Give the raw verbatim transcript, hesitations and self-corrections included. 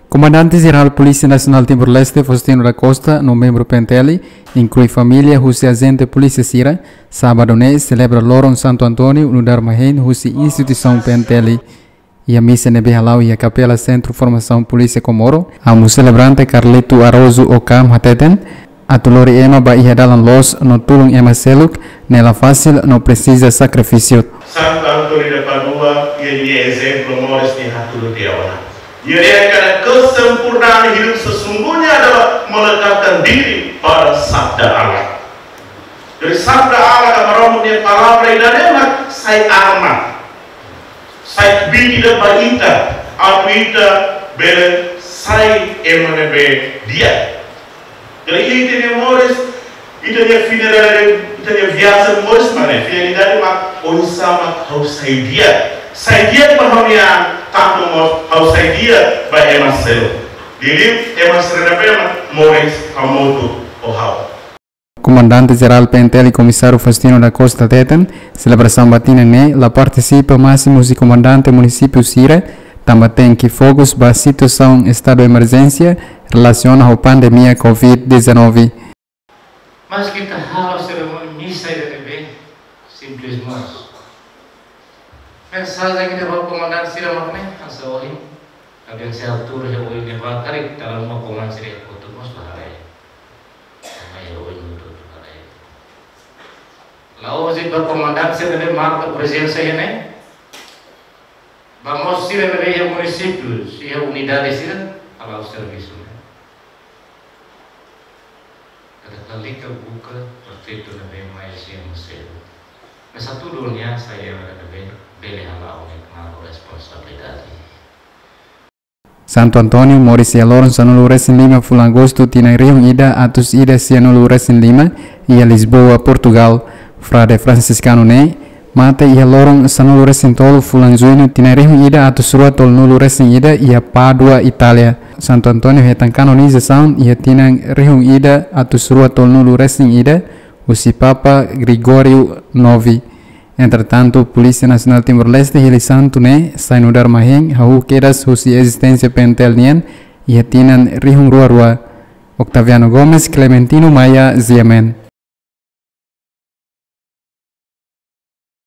Komandante Jerál Polísia Nasionál Timor-Leste, Faustino da Costa, no membru P N T L, inklui família husi ajente polísia sira, sábadu ne'e selebra loron Santu António nu'udar mahein husi instituisaun P N T L. Iha misa ne'ebé hala'o iha Kapela Sentru Formasaun Polísia Comoro, amu selebrante Carlito Araújo Ocam hateten, atu lori ema ba iha dalan loos no tulun ema seluk ne'e la fasil no presiza sakrifísiu. Santo António de Padua, nia ezemplu moris ne'e hatudu tiha ona. Nia dehan katak kesempurnaan hidup sesungguhnya adalah mendekatkan diri pada sabda Allah. Jadi sabda Allah ka Maromak nia palavra ida-ne'e mak sai arma. Sai kbiit ida ba ita, atu ita bele sai ema ne'ebé di'ak. Jadi ita-nia moris, ita-nia finalidade, ita-nia viajen moris mak ne'e, finalidade mak oinsá mak ha'u sai di'ak. Sai di'ak ba ha'u-nia an, tantu mós ha'u sai di'ak ba ema seluk. Liuliu ema sira ne'ebé mak moris hamutuk ho ha'u. Komandante Jerál P N T L Komisáriu Faustino da Costa hateten, selebrasaun ba tinan ne'e la partisipa másimu husi komandante munisípiu sira, tanba tenke fokus ba situasaun estadu emerjénsia relasiona ho pandemia covid dezanove. Mas ita halo serimónia misa ida ne'ebé simples mós. Mensajen ida ba komandante sira mak ne'e, hanesan ohin, kaben se altura iha oin ne'ebá karik, dala ruma komandante sira kotuk mós la haree. Mai iha oin hotu-hotu la haree. La'ós de'it ba komandante sira ne'ebé marka prezensa iha ne'e, ba mós sira ne'ebé iha munisípiu, iha unidade sira, hala'o servisu ne'e. Kada kalika buka partidu ne'ebé mai husi ema seluk. Mas atu dunia sai ema ne'ebé bele hala'o ne'e knaar ho responsabilidade. Santu António moris iha loron sanulu-resin-lima fulan Agostu tinan rihun ida atus ida sianulu-resin-lima, iha Lisboa, Portugal. Frade Fransiskanu ne'e mate iha loron sanulu-resin-tolu fulan Juñu tinan rihun ida atus rua tolunulu-resin-ida, iha Pádua, Itália. Santu António hetan kanonizasaun iha tinan rihun ida atus rua tolunulu-resin-ida, husi Papa Gregório nove. Entretantu, Polísia Nasionál Timor-Leste hili santu ne'e sai nu'udar mahein hahú kedas husi ezisténsia P N T L nian iha tinan rihun rua rua. Octaviano Gomes, Clementino Maia, G M N.